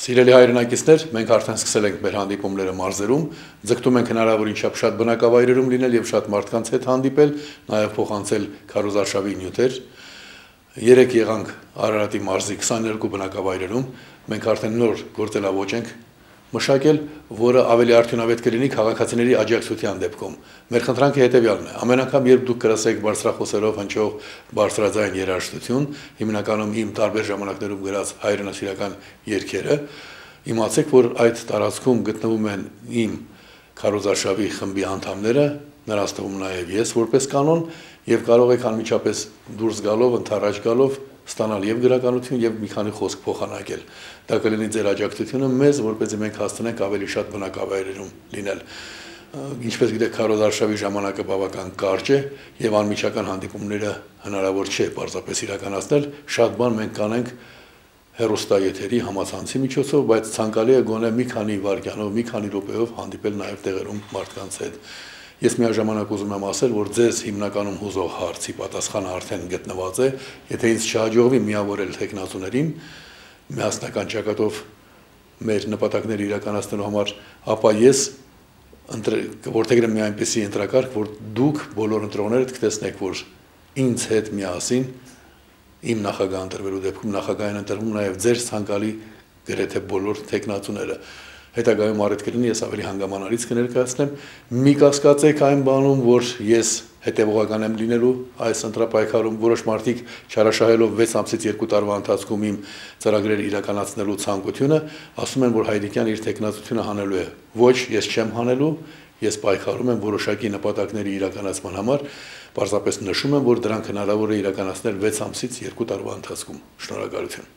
Սիրելի հայրենակիցներ, մենք արդեն սկսել ենք մեր հանդիպումները մարզերում, ձգտում ենք հնարավորին չափ շատ բնակավայրերում լինել եւ շատ մարդկանց հետ հանդիպել, նաեւ փոխանցել քարոզարշավի նյութեր։ Երեք եղանք Արարատի մարզի 22 բնակավայրերում, մենք արդեն նոր գործելավոճ ենք մշակել, որը ավելի արդյունավետ կլինի քաղաքացիների աջակցության դեպքում։ Մեր խնդրանքը հետեւյալն է. ամեն անգամ, երբ դուք կրասեք բարձրախոսերով հնչող բարձրաձայն երաժշտություն, հիմնականում իմ տարբեր ժամանակներում գրած հայրենասիրական երգերը, իմացեք, որ այդ տարածքում գտնվում են իմ քարոզարշավի խմբի անդամները, նրանց թվում նաև ես որպես կանոն, եւ կարող եք անմիջապես դուրս գալով, ընթառաջ գալով ստանալ եւ գրականություն եւ մի քանի խոսք փոխանակել։ Դա կլինի ձեր աջակցությունը մեզ, որպեսզի մենք հասցնենք ավելի շատ բնակավայրերում լինել։ Ինչպես գիտեք, քարոզարշավի ժամանակը բավական կարճ է եւ անմիջական հանդիպումները հնարավոր չէ պարզապես իրականացնել, շատ բան մենք կանենք հեռուստաեթերի համացանցի միջոցով, բայց ցանկալի է գոնե մի քանի վայրկյանով, մի քանի րոպեով հանդիպել նաեւ տեղերում մարդկանց հետ։ Ես միաժամանակ ուզում եմ ասել, որ ձեզ հիմնականում հուզող հարցի պատասխանը արդեն գտնված է, եթե ինձ չհաջողվի միավորել տեխնացուներին միասնական ճակատով մեր նպատակները իրականացնելու համար, ապա ես կորդեգրեմ մի այնպիսի ընտրակարգ, որ դուք բոլոր ընտրողներդ կտեսնեք, որ ինձ հետ միասին իմ նախագահ ընտրվելու դեպքում նախագահային ընտրվում նաև ձեր ցանկալի գրեթե բոլոր տեխնացուները։ Հետագայում առիթ կլինի ես ավելի հանգամանալից կներկայացնեմ։ Մի կասկածեք այն բանում, որ ես հետևողական եմ լինելու այս ընտրապայքարում, որոշ մարդիկ չարաշահելով 6 ամսից 2 տարվա ընթացքում իմ ծրագրերը իրականացնելու ցանկությունը, ասում են, որ Հայրիկյան իր տեխնացությունը հանելու է։ Ոչ, ես չեմ հանելու, ես պայքարում եմ որոշակի նպատակների իրականացման համար, պարզապես նշում եմ, որ դրանք հնարավոր է իրականացնել 6 ամսից 2 տարվա ընթացքում։ Շնորհակալություն։